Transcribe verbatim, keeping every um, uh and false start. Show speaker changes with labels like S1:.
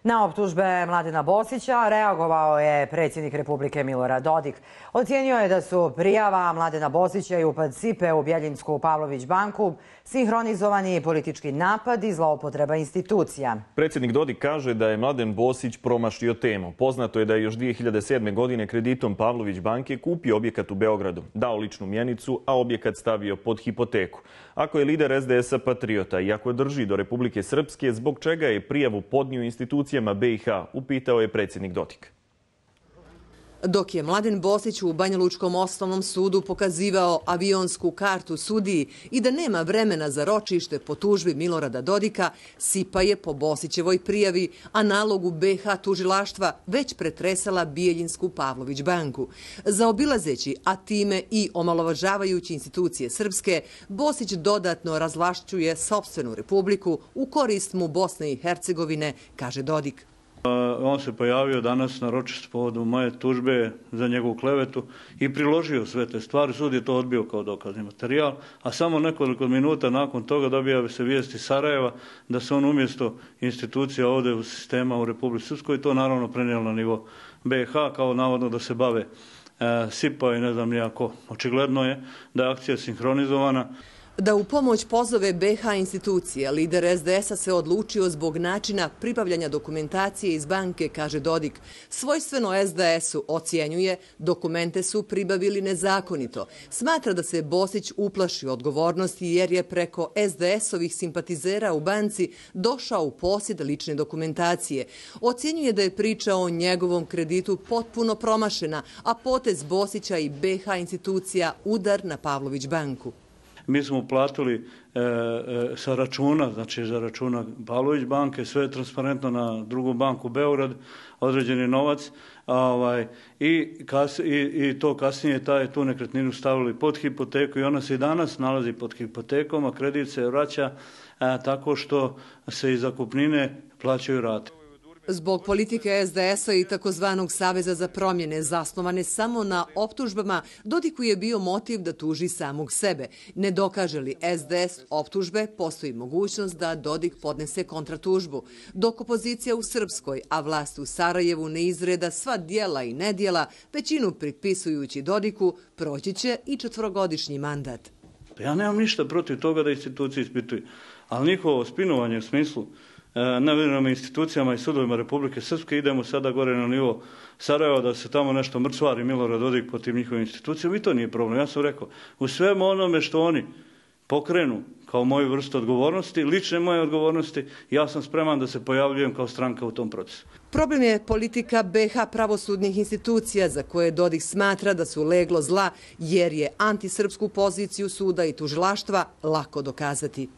S1: Na optužbe Mladena Bosića reagovao je predsjednik Republike Milorad Dodik. Ocijenio je da su prijava Mladena Bosića i upad Sipe u Bjeljinsku Pavlović banku sinhronizovani politički napad i zloupotreba institucija.
S2: Predsjednik Dodik kaže da je Mladen Bosić promašio temu. Poznato je da je još dvije hiljade sedme. godine kreditom Pavlović banke kupio objekat u Beogradu, dao ličnu mjenicu, a objekat stavio pod hipoteku. Ako je lider es de es a patriota i ako drži do Republike Srpske, zbog čega je prijavu podnio institucijama be i ha, upitao je predsjednik Dodik.
S3: Dok je Mladen Bosić u Banjalučkom osnovnom sudu pokazivao avionsku kartu sudiji i da nema vremena za ročište po tužbi Milorada Dodika, Sipa je po Bosićevoj prijavi, a nalogu be ha tužilaštva već pretresala Bjeljinsku Pavlović banku. Zaobilazeći, a time i omalovažavajući institucije srpske, Bosić dodatno razvlašćuje sopstvenu republiku u korist mu Bosne i Hercegovine, kaže Dodik.
S4: On se pojavio danas na ročištu povodom moje tužbe za njegovu klevetu i priložio sve te stvari. Sud je to odbio kao dokazni materijal, a samo nekoliko minuta nakon toga dobija se vijest iz Sarajeva da se on umjesto institucija ovdje u sistema u Republici Srpskoj to naravno prenijelo na nivo be i ha kao navodno da se bave e, Sipa i ne znam nijako. Očigledno je da je akcija sinhronizovana.
S3: Da u pomoć pozove be ha institucije, lider es de es a se odlučio zbog načina pribavljanja dokumentacije iz banke, kaže Dodik. Svojstveno es de esu ocjenjuje dokumente su pribavili nezakonito. Smatra da se Bosić uplašio odgovornosti jer je preko es de esovih simpatizera u banci došao u posjed lične dokumentacije. Ocjenjuje da je priča o njegovom kreditu potpuno promašena, a potez Bosića i be ha institucija udar na Pavlović banku.
S4: Mi smo uplatili e, e, sa računa, znači za računa Pavlović banke, sve je transparentno na drugu banku Beograd, određeni novac, a, ovaj, i, kas, i, i to kasnije taj, tu nekretninu stavili pod hipoteku i ona se i danas nalazi pod hipotekom, a kredit se vraća a, tako što se iz zakupnine plaćaju rate.
S3: Zbog politike es de es a i takozvanog Saveza za promjene zasnovane samo na optužbama, Dodiku je bio motiv da tuži samog sebe. Ne dokaže li es de es optužbe, postoji mogućnost da Dodik podnese kontratužbu. Dok opozicija u Srpskoj, a vlast u Sarajevu ne izreda sva dijela i nedjela, većinu pripisujući Dodiku, proći će i četvorogodišnji mandat.
S4: Ja nemam ništa protiv toga da institucije ispituju, ali njihovo spinovanje u smislu nevjernim institucijama i sudovima Republike Srpske, idemo sada gore na nivo Sarajeva da se tamo nešto mrcvari Milorad Dodik protiv njihovih institucija, i to nije problem. Ja sam rekao, u svemu onome što oni pokrenu kao moju vrstu odgovornosti, lične moje odgovornosti, ja sam spreman da se pojavljujem kao stranka u tom procesu.
S3: Problem je politika be ha pravosudnih institucija za koje Dodik smatra da su leglo zla jer je antisrpsku poziciju suda i tužilaštva lako dokazati.